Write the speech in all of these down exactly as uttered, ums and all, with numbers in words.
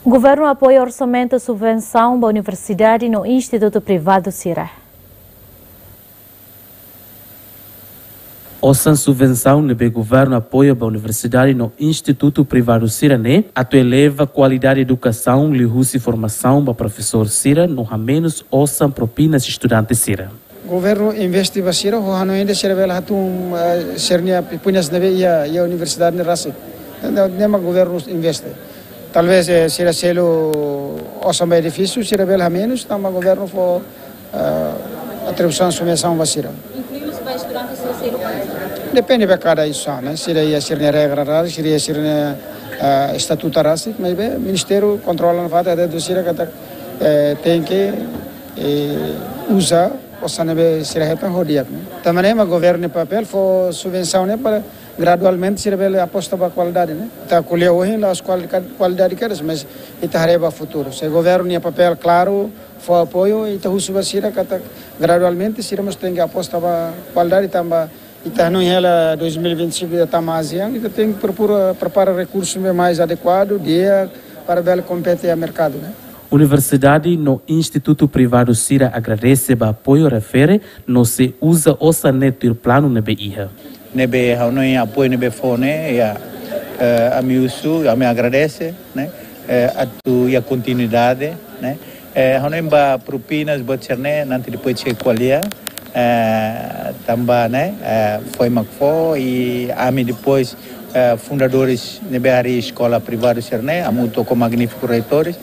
Governu apoia orsamentu subvensaun ba universidade no institutu privadu sira. Osan subvensaun ne'ebé governu apoia ba universidade no institutu privadu sira-ne'e atu eleva kualidade edukasaun liuhusi formasaun ba profesór sira no hamenus osan propinas estudante sira. Governu investe ba sira, ho hanoin ida sira bele hatún, eh, sira-nia pipuñas ne'ebé iha, iha universidade ne'e rasik. Ne'e, ne'e mak governu investe. Talvez, eh, sira selu osan ba edifísiu, sira bele hamenus, tanba governu fó, eh, atribuisaun subvensaun ba sira. Inkluinklui ba estudante sira selu? Depende ba kada instituisaun, ne'e. Sira iha sira-nia regra rasik, sira iha sira-nia, eh, estatutu rasik, maibé ministériu kontrola nafatin, atu sira katak, eh, tenke, eh, uza osan ne'ebé sira hetan ho di'ak, ne'e. Tanba ne'e mak governu nia papél fó subvensaun ne'e para gradualmente sira bele aposta ba kualidade, ne'e. Ita ko'alia ohin la'ós kuali-, kualidade kedas, mas ita haree ba futuru. Se governu nia papél klaru, fó apoiu, ita husu ba sira katak gradualmente sira mós tenke aposta ba kualidade tanba ita hanoin hela dois mil e vinte e cinco ita tama azian, ita tenke prokura prepara rekursu ne'ebé mais adekuadu, di'ak, para bele kompete iha merkadu, ne'e. Universidade no institutu privadu sira agradese ba apoiu refere no sei uza osan ne'e tuir planu ne'ebé iha. Ne'ebé ha'u hanoin apoiu ne'ebé fó ne'e, ya, eh, ami husu, ami agradese, ne'e, eh, atu iha kontinuidade, ne'e. Eh, ha'u hanoin ba propinas, buat sira-ne'e, nanti depois sei ko'alia, eh, tanba, ne'e, eh, foin mak fó, i ami depois, eh, fundadores ne'ebé harii eskola privadu sira-ne'e, hamutuk ho magnífiku reitores,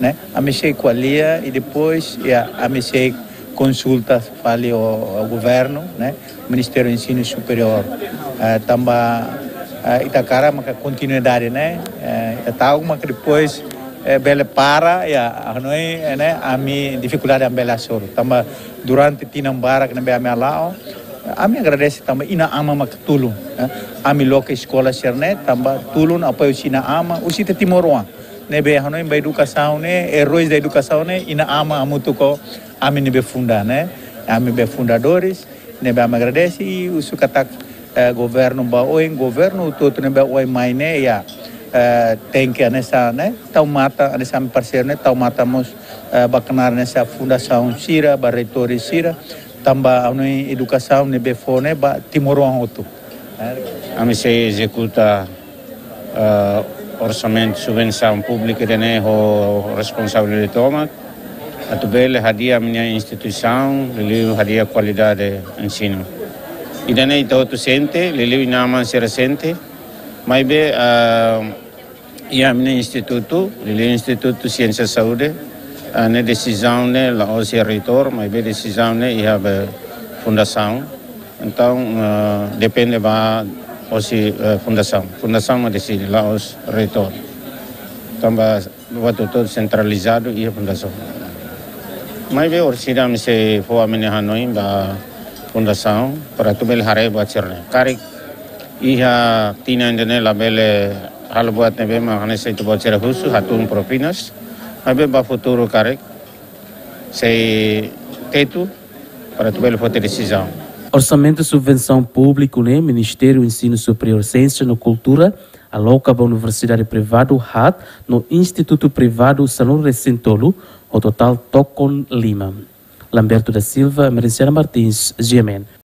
ne'e, ami sei ko'alia i depois, ya, ami sei konsulta fali ho, ho governu, ne'e, Ministériu Ensinu Superiór. Eh, tanba, eh, ita hakarak maka kontinuidade, ne'e, eh, ita ta'uk maka depois, eh, bele para, ya, ha'u hanoin, eh, ne'e, ami difikuldade ami bele hasoru. Tanba durante tinan barak ne'ebé ami hala'o, ami agradese tanba inan-aman maka tulun, eh, ami loke eskola sira-ne'e, tanba tulun apoiu husi inan-aman, husi ita timoroan. Ne'ebé ha'u hanoin ba edukasaun ne'e, heróis da edukasaun ne'e, inan-aman hamutuk ho ami ne'ebé funda, ne'e. Ami be fundadores, ne'ebé ami agradese i husu katak, eh, governu ba oin, governu hotu-hotu ne'ebé oin mai ne'e, ya, eh, tenke hanesan, ne'e, tau matan, hanesan parseiru ne'e, tau matan mós, eh, ba knaar hanesan fundasaun sira, ba reitores sira, tanba ha'u hanoin edukasaun ne'ebé fó ne'e ba timoroan hotu. Ami sei ezekuta, eh, orsamentu subvensaun públika ida-ne'e ho responsabilidade tomak, atu bele hadi'a ami-nia instituisaun, liuliu hadi'a kualidade ensinu. Ida-ne'e ita hotu sente, liuliu inan-aman sira sente, maibé, eh, iha ami-nia institutu, liuliu Institutu Siénsia Saúde, ah, ne'e desizaun ne'e la'ós iha reitór, maibé desizaun ne'e iha be fundasaun. Entaun, ah, depende ba hosi, eh, fundasaun. Fundasaun mak deside, la'ós reitór. Tanba buat hotu-hotu sentralizadu iha fundasaun. Maibé orsida ami sei fó ami-nia hanoin ba fundasaun, para atu bele haree buat sira-ne'e. Karik iha tinan ida-ne'e labele halo buat ne'ebé mak hanesan ita-boot sira husu, hatún propinas. Maibé ba futuru karik sei tetu para atu bele foti desizaun. Orsamentu subvensaun públiku ne'e Ministériu Ensinu Superiór, Siénsia no Kultura aloka ba universidade privadu haat no institutu privadu sanulu-resin-tolu, ho totál tokon lima. Lamberto da Silva, Emerenciana Martins, G M N.